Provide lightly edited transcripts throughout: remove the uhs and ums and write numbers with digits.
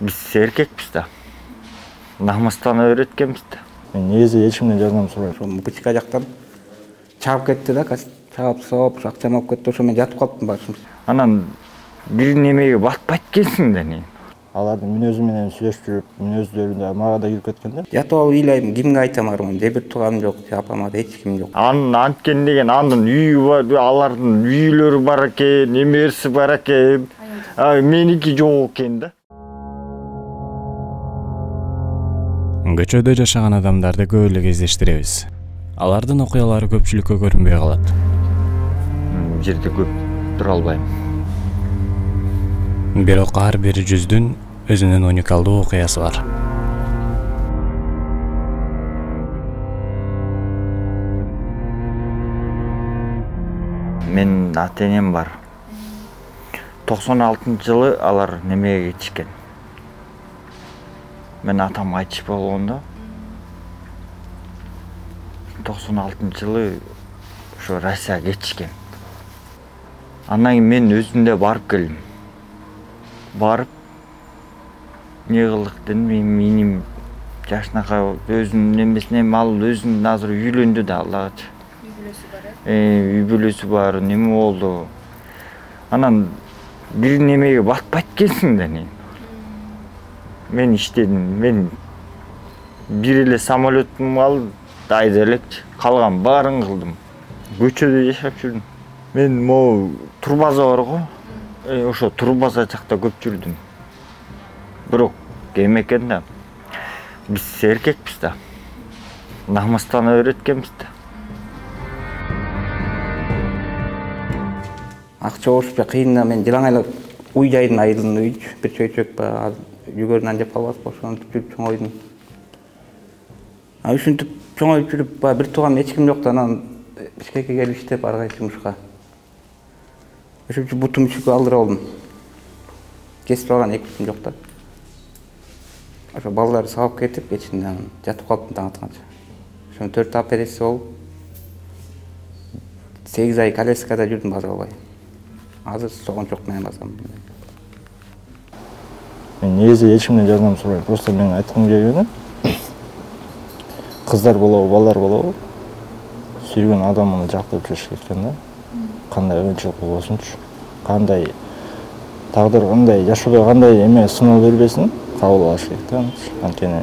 Биз эркекпиз да. Намыстан öğreткенбиз да. Мен негизи эч кимден жардам сурабайм. Ошо бычка жактан чаап кетти да, чаап соп, акчам алып кетти. Ошо мен жатып калыптым башым. Анан бир немеге батпайт экенсиң да не. Алардын мүнөзү менен сүйлөшүп жүрүп, мүнөздөрү да мага да кирип кеткен да. Жатып алып ыйлайм, кимге айтам арман? Же бир тууганым жок, же апама да эч ким жок. Анын анткен деген анын үйү бар, алардын үйлөрү бар экен, эмерси бар экен. Меники жок экен да. Көчөдө жашаган адамдарды көп эле кездештиребиз. Алардын окуялары көпчүлүккө көрүнбөй калат. Бул жерде көп тура албайм. Бирок ар бир жүздүн өзүнүн уникалдуу окуясы бар. Менин ата-энем бар. 96-жылы алар немеге кетишкен. Мен атам айтыш болгондо 96-жылы ошо Россияга кетишкен. Андан кийин мен өзүмдө барып келдим. Барып не кылдык дедим, менин жашынакай өзүнүн немесине ал өзүнүн азыр үйлөндү да Аллага. Үй бүлөсү бар, неме болду. Анан бир немеге батпайт экенсиң да не. Мен иштедим, мен бир эле самолетум алып айда элекчи, калган баарын кылдым. Көчөдө жашап жүрдүм. Мен могу турбаза бар го. Ошо турбаза жакта көп жүрдүм. Бирок кем экен да. Биз эркекпиз да. Намыстан öğreткенбиз да. Акча болушпа кыйын да, мен жылаңайлап уй жайдым, айылдын үй бир чөйчөк ба, жүгөрүнөн жеп калбас ошентип жүрүп чоңойдум. Ушинтип чоңоюп жүрүп, бир тууган эч ким жок да, анан Бишкекке келип иштеп ар кайсы жумушка. Ошентип бутум үчүккө алдырып алдым. Кесип алган эки бутум жок да. Ошо балдарды сабап кетип, кечинде анан жатып калыптым таң атканча. Ошо 4 операция болуп 8 ай коляскада жүрдүм баса албай. Азыр согончок менен басам. Мен негизи эч кимден жардам сурабайм. Просто мен айткым келгени кыздар болобу, балдар болобу, сүйгөн адамын жактырып жүрүш керек да. Кандай өңчүлүк болбосунчу, кандай тагдыр, кандай жашоодо кандай эме сыноо бербесин, кабыл алыш керек да. Анткени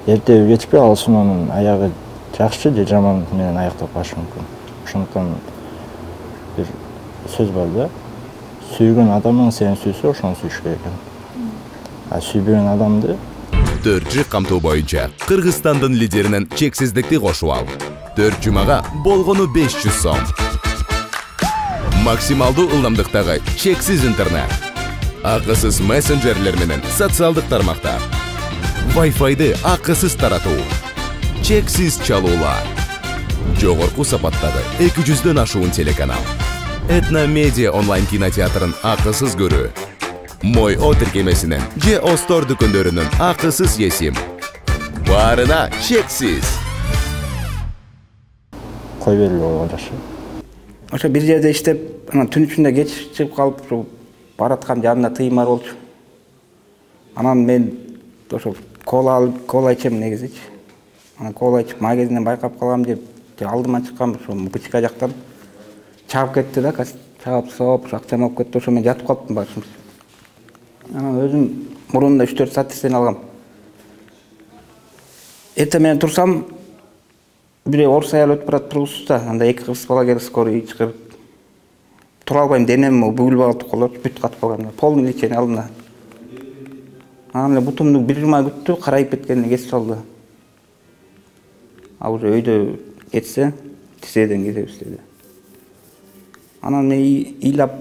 эртеби кечпи ал сыноонун аягы жакшы же жаман менен аяктап калышы мүмкүн. Ошондуктан бир сөз бар да. Сүйгөн адамың сени сүйсө, ошону сүйүш керек экен. А сүйбөгөн адамды 4G камтуу боюнча Кыргызстандын лидеринен чексиздикти кошуп ал. 4 жумага болгону 500 сом. Максималдуу ылдамдыктагы чексиз интернет. Акысыз мессенджерлер менен социалдык тармактар. Wi-Fi'ды акысыз таратуу. Чексиз чалуулар. Жогорку сапаттагы 200дөн ашуун телеканал. Этно Медиа онлайн кинотеатрын акысыз көрүү. Мой О тиркемесинен же Остор дүкөндөрүнүн акысыз есим. Баарына чексиз. кой белгилүү болгон жакшы. Ошо бир жерде иштеп, анан түн ичинде кеч чыгып калып, бараткан жанымда тыйым бар болчу. Анан мен ошо кола ичем негизичи. Анан кола ичип магазинден байкап калгам деп, алдыма чыккам, ошо бычка жактан чаап кетти да, чаап соп, акчам алып кетти. Ошо мен жатып калыптым башым. Анан өзүм мурунда 3-4 саат эстен алгам. Эртең менен турсам, бир орус аял өтүп барат тургусузда, анда эки кыз бала келип скорый чыгарып. Тура албайм, денем бүгүлүп алып колоп, бүт катып калган. Полный лечение алдым. Анан эле бутумду бир жума күттү, карайып кеткенине кесип салды. А уже өйдө кетсе, тизеден кетебиз деди. Анан мен ыйлап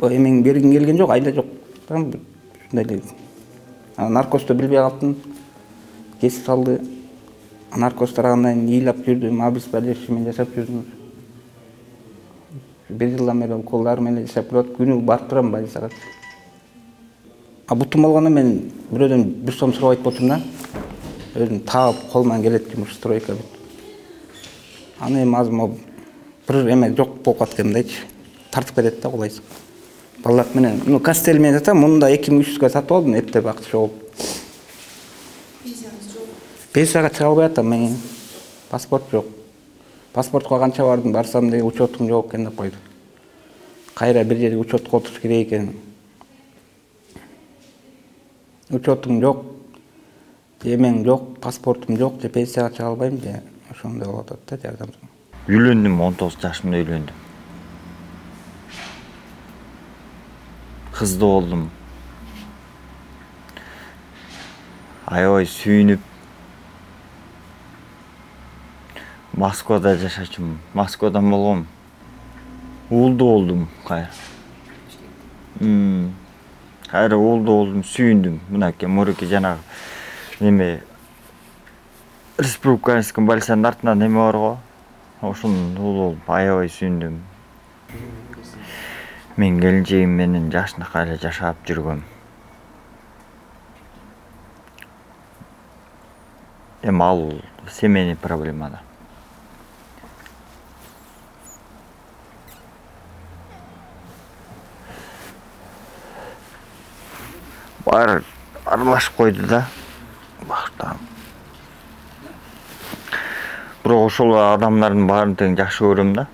эмең бергим келген жок, айла жок. Ушундай эле. Наркозду билбей калдым. Кесип салды. Наркоз тарагандан кийин ыйлап жүрдүм, обезболивающий менен жашап жүрдүм. Бир жылдан бери колдар менен жашап турат, күнү барып турам больницага. А бутум болгондо мен бирөөдөн 1 сом сурабайт болчумун да. Өзүм таап кол менен келет жумуш стройка бүт. Аны эми азыр бир эме жок болуп каткандайчы. Тартып берет да кулайсыз. Балдар менен, кастель менен сатам, мында 2300га сатып алдым, эптеп акча болуп. Пенсияңыз жок. Пенсияга чыга албай атам мен. Паспорт жок. Паспортко канча бардым, барсам деле учетум жок экен деп койду. Кайра бир жерге учетко отуруш керек экен. Учетум жок, эмең жок, паспортум жок, же пенсияга чыга албайм, же ошондой болуп атат да жардам. Үйлөндүм, 19 жашымда үйлөндүм. Кызды болдум. Аябай сүйүнүп Москвада жашачумун. Москвадан болгом. Уулду болдум кайра. Кайра уулду болдум, сүйүндүм. Мынакей муруки жанагы неме республиканский больницанын артынан неме бар го. Ошонун уулу болуп аябай сүйүндүм. Мен келинчегим менен жакшынакай эле жашап жүргөм. Эми ал семейный проблемада. Баары аралашып койду да. Башта. Бирок ошол адамдардын баарын тең жакшы көрөм да.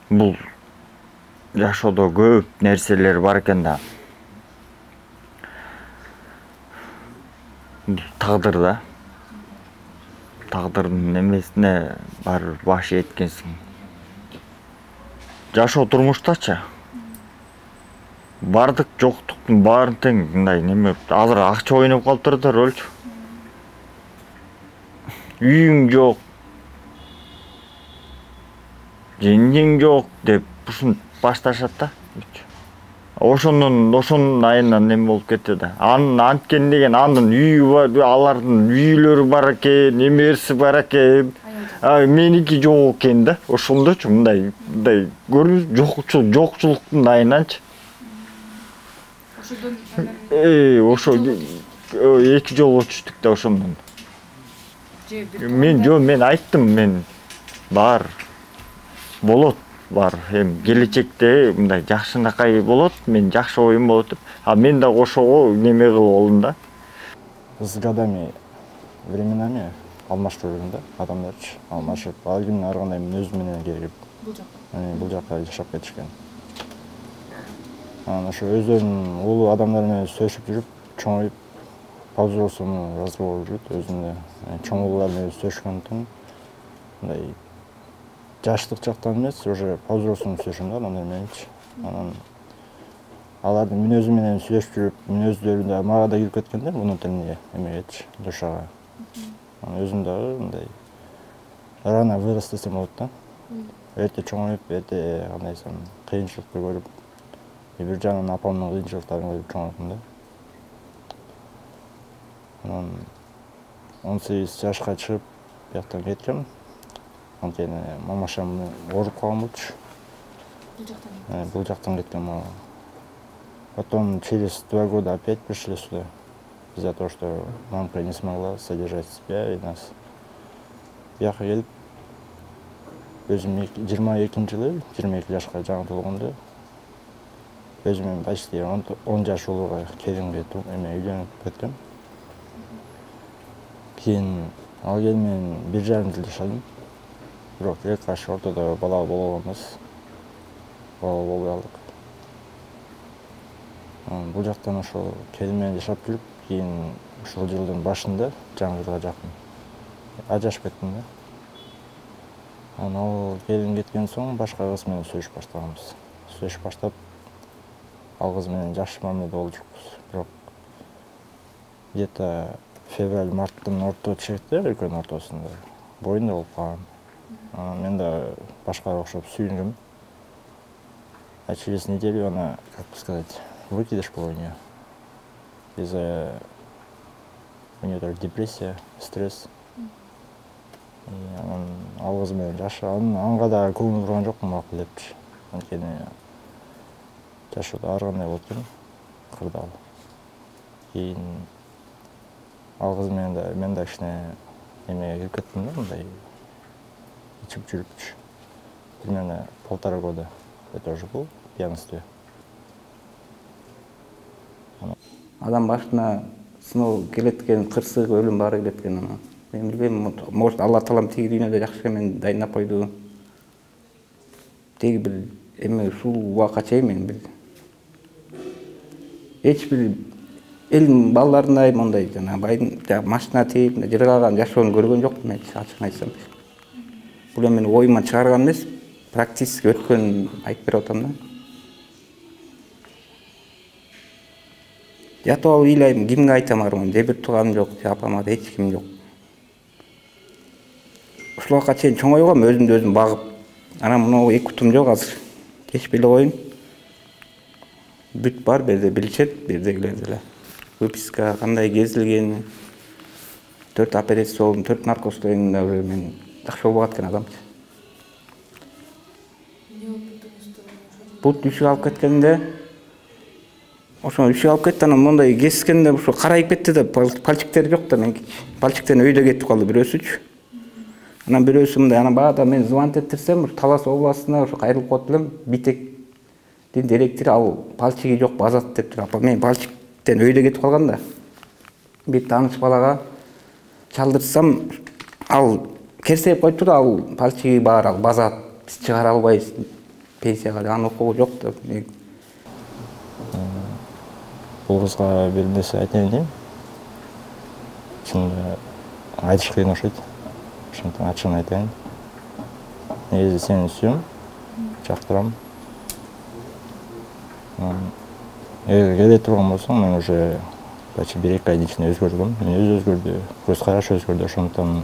Бул жашоодо көп нерселер бар экен да. Тагдыр да. Тагдырдын немесине баары баш эткенсиң. Жашоо турмуштачы. Бардык жоктуктун баарын тең мындай неме азыр акча ойноп калыптыр да рөлчү. Үйүң жок. Жеңең жок деп ушун башташат да. Ошонун айынан неме болуп кетти да. Анткени деген анын үйү бар, алардын үйлөрү бар экен, эмеси бар экен. Меники жок экен да. Ошондочу мындай көрүнүш жокчулуктун айынанчы. Ошо 2 жолго түштүк да ошондон. Мен айттым, мен бар болот, бар. Эми келечекте мындай жакшынакай болот, мен жакшы оюм болот деп. Мен да ошого неме кылып болдум да. С годами, временами алмашып жүрдүм да, адамдарчы алмашып. Ал күнү ар кандай өзүм менен келип бул жакка жашап кетишкен. Анан ошо өздөрүнүн улуу адамдар менен сөйлөшүп жүрүп, чоңоюп, по-взрослому разговор жүрүп, өзүнө чоң улуулар менен сөйлөшкөндөн мындай жаштык жактан эмес, уже по-взрослому сөйлөшөм да адамдар мененчи. Анан алардын мүнөзү менен сүйлөшүп жүрүп, мүнөздөрү да мага да кирип кеткен да, внутренне эмегечи, душага. Анан өзүм дагы мындай рано вырос десем болот да. Эрте чоңоюп, эрте кандай десем, кыйынчылыкты көрүп, бир жагынан апамдын кыйынчылыктарын көрүп чоңойдум да. Анан 18 жашка чыгып, бияктан кеткем. Анткени мамашам ооруп калган болчу. Бул жактан кеткем. Потом через 2 года опять пришли сюда. Из-за того, что мамка не смогла содержать себя и нас. Бияка келип, өзүм 22-жылы, 22 жашка жаңы толгондо, өзүм почти 10 жаш улууга келинге үйлөнүп кеткем. Кийин ал келин менен 1,5 жыл жашадым. Бирок тилек каршы ортодо бала боло албайбыз. Бала болбой алдык. Бул жактан ошо келин менен жашап жүрүп, кийин ушул жылдын башында, жаңы жылга жакын ажырашып кеттим да. Анан ал келин кеткен соң башка кыз менен сүйлөшүп баштаганбыз. Сүйлөшүп баштап, ал кыз менен жакшы мамиледе болуп жүрүпбүз. Бирок где-то февраль-марттын орто чегинде, экөөнүн ортосунда боюнда болуп калган. Анан мен да башкага окшоп сүйүнгөм. А через неделю она, как бы сказать, выкидыш был у нее. У нее тоже депрессия, стресс. И анан ал кыз менен жашаган, анга да көңүл бурган жокмун макул депчи. Анткени жашоодо ар кандай болот экен, кырдаал. Кийин ал кыз менен да мен да кичине эмеге кирип кеттим да, мындай ичип жүрүпчү. Примерно 1,5 года я тоже был в пьянстве. адам башына сыноо келет экен, кырсык өлүм баары келет экен. Мен билбейм, может Алла таалам тиги дүйнөдө жакшы мени дайындап койду. Тиги бир эме ушул убакка чейин мен бир эч бир эл балдарындай мондай жана байдын машина тээп жыргалган жашоону көргөн жокмун мен, ачыгын айтсам. Бул эми менин оюман чыгарган эмес, практически өткөн айтып берип атам да. Жатып алып ыйлайм, кимге айтам арман, же бир тууганым жок, же апама да эч ким жок. Ушул убакка чейин чоңойгом, өзүмдү өзүм багып. Анан мына эки утум жок азыр. Кечип эле коюн. Бүт бар, берде билишет, бердегилер деле. Выписка кандай кезилген, 4 операция болдум, 4 наркоздон да мен жакшы болбой кеткен адамчы. Бут үшүк алып кеткенде, ошо үшүк алып кетти, анан мондай кескенде ошо карайып кетти да, пальчиктери жок да меники. Пальчиктен өйдө кетип калды бирөөсүчү. Анан бирөөсү мындай, анан баада мен звонить этирсем, Талас областына ошо кайрылып коет элем, Битектин директору ал пальчиги жок, базат дептир. Апа мен пальчиктен өйдө кетип калган да. Бир тааныш балага чалдырсам, ал керсейип коюптур, ал пальчиги бар, ал базат, биз чыгара албайбыз пенсияга, анын укугу жок да. Бул кызга бир нерсе айтайын дейм. Чынында айтыш кыйын окшойт. Ошондон ачыгын айтайын. Негизи сени сүйөм, жактырам. Эгер келе турган болсоң, мен уже почти 1-2 айдын ичинде өзгөрдүм. Мен өзгөрдү, көз караш өзгөрдү. Ошондон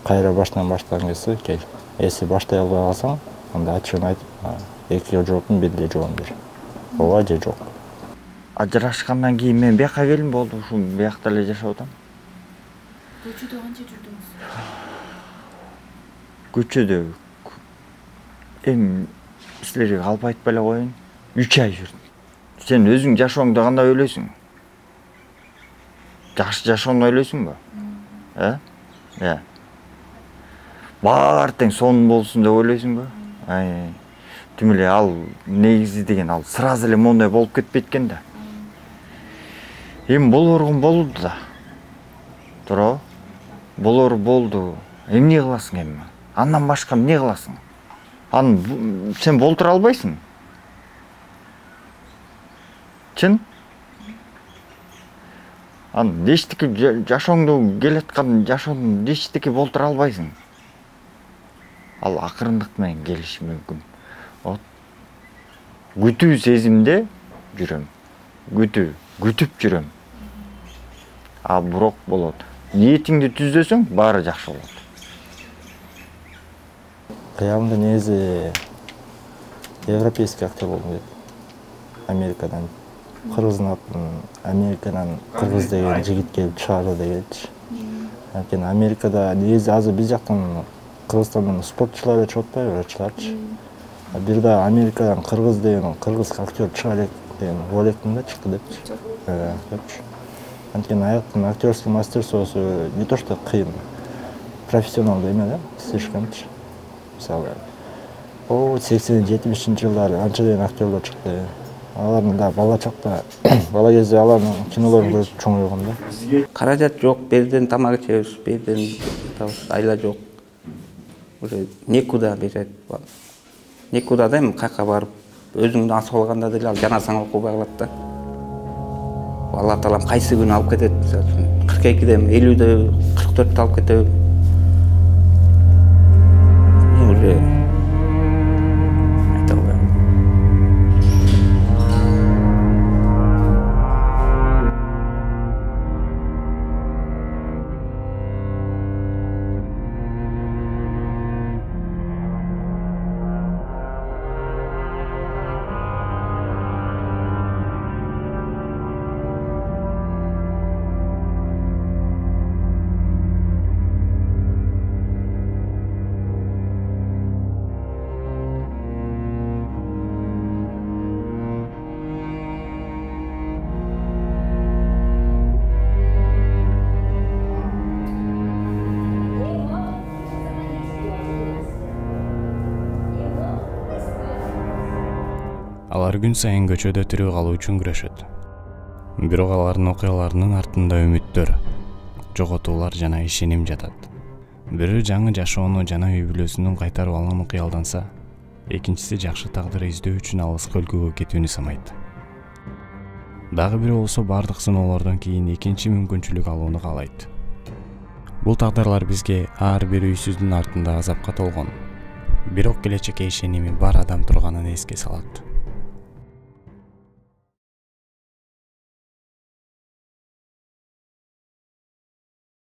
кайра баштан баштаган кезде кел. Эси баштай албай калсаң, анда ачыгын айтып, экиге жоопун бир эле жооп бер. Ооба же жок. Ажырашкандан кийин мен бияка келдим, болду, ушул биякта эле жашап атам. Көчөдө канча жүрдүңүз? Көчөдө эми силерге калп айтпай эле коеюн, 3 ай жүрдүм. Сен өзүң жашооңду кандай ойлойсуң? Жакшы жашоону ойлойсуңбу? Баары тең сонун болсун деп ойлойсуңбу? Тим эле ал негизи деген ал сразу эле мондай болуп кетпейт экен да. Эми болорун болду да. Туурабы? Болор болду. Эмне кыласың эми? Андан башка эмне кыласың? Аны сен болтура албайсың. Чын? Аны эчтеке жашооңду келаткан жашоону эчтеке болтура албайсың. Ал акырындык менен келиши мүмкүн. Вот күтүү сезимде жүрөм. Күтүп жүрөм. А бирок болот. Ниетиңди түздөсөң, баары жакшы болот. Кыямда негизи европейский актер болгум дейт. Америкадан кыргыздын атын Америкадан кыргыз деген жигит келип чыгарды дегенчи. Анткени Америкада негизи азыр биз жактан Кыргызстандан спортчулар чыгып атпайбы, врачтарчы. Бир да Америкадан кыргыз деген кыргыз актер чыга элек деген ойлоптум да, чыкты депчи. Анткени аяктын актерский мастерствосу не то что кыйын, профессионалдуу эме да, слишкомчы. Мисалы, 80-70-жылдары анча деген актерлор чыкты. Алардын да бала чакта, бала кезде алардын кинолорун көрүп чоңойгон да. Каражат жок, берден тамак ичебиз, берден айла жок. Уже некуда берет. Некуда да эми кайка барып, өзүңдү асып алганда деле ал жаназаңа окубай калат да. Алла таалам кайсы күнү алып кетет, мисалы үчүн 42-де, 50-де, 44-те алып кетеби. Уже айта албайм. Алар күн сайын көчөдө тирүү калуу үчүн күрөшөт. Бирок алардын окуяларынын артында үмүттөр, жоготуулар жана ишеним жатат. Бирөө жаңы жашоону жана үй бүлөсүнүн кайтарып алганын кыялданса, экинчиси жакшы тагдыр издөө үчүн алыска өлкөгө кетүүнү санайт. Дагы бирөө болсо бардык сыноолордон кийин экинчи мүмкүнчүлүк алууну каалайт. Бул тагдырлар бизге ар бир үйсүздүн артында азапка толгон, бирок келечекке ишеними бар адам турганын эске салат.